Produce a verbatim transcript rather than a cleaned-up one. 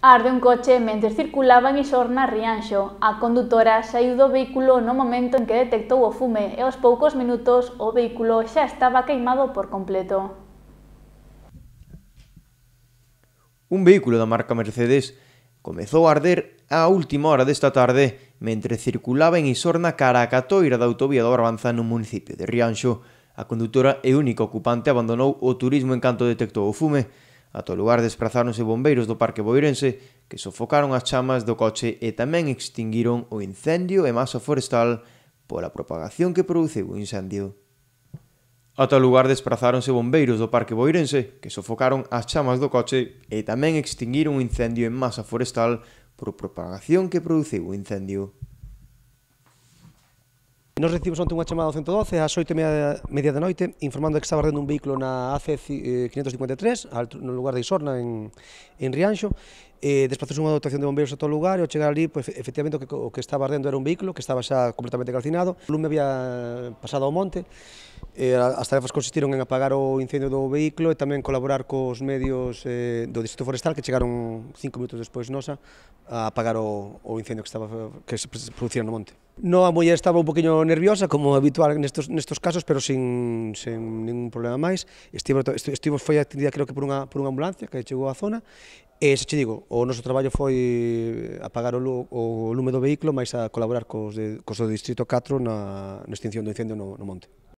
Arde un coche mentres circulaba en Isorna, Rianxo. A condutora saíu do vehículo no momento en que detectou o fume e aos poucos minutos o vehículo xa estaba queimado por completo. Un vehículo da marca Mercedes comezou a arder á última hora desta tarde mentre circulaba en Isorna cara a Catoira da autovía do Barbanza no municipio de Rianxo. A condutora e única ocupante abandonou o turismo en canto detectou o fume. Ata o lugar desprazáronse bombeiros do Parque Boirense que sofocaron as chamas do coche e tamén extinguiron o incendio e masa forestal pola propagación que produciu o incendio. Ata o lugar desprazáronse bombeiros do Parque Boirense que sofocaron as chamas do coche e tamén extinguiron o incendio en masa forestal por propagación que produciu o incendio. Nos recibimos onte unha chamada ao ciento doce ás oito e media da noite informando de que estaba ardendo un vehículo na A C quinientos cincuenta e tres no lugar de Isorna, en, en Rianxo. Eh, desplazouse unha dotación de bombeiros a todo o lugar e ao chegar ali, pues, efectivamente o que, o que estaba ardendo era un vehículo que estaba xa completamente calcinado. O lume había pasado ao monte. Eh, as tarefas consistiron en apagar o incendio do vehículo e tamén colaborar cos medios eh, do Distrito Forestal que chegaron cinco minutos despois nosa a apagar o, o incendio que, estaba, que se producía no monte. No, a muller estaba un poquinho nerviosa, como habitual nestos, nestos casos, pero sin, sin ningún problema máis. Estivo, estivo, foi atendida creo que por unha, por unha ambulancia que chegou á zona. E, se che digo, o noso traballo foi apagar o, o lume do vehículo máis a colaborar cos, de, cos do Distrito catro na, na extinción do incendio no, no monte.